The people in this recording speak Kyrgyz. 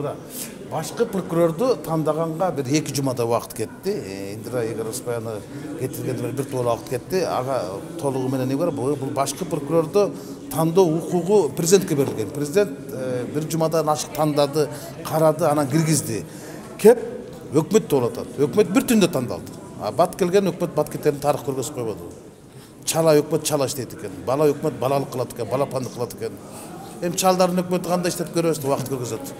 туура. Башкы прокурорду тандаганга бир 2 жумада убакыт кетти. Индира Егороспаяны кетиргенде бир тола убакыт кетти. Ага толугу менен эмне бар? Бул башкы прокурорду тандоо укугу президентке берилген. Президент бир жумадан ашык тандады, карады, анан киргизди. Кеп өкмөт болуп атат. Өкмөт бир түндө тандалды. Бат келген өкмөт бат кетерин тарых көргөзүп койбоду. Чала өкмөт чала иштейт экен. Бала өкмөт балалык кылат экен, балапандык кылат экен. Чалдардын өкмөтү кандай иштеп көрөбүз, убакыт көргөзөт.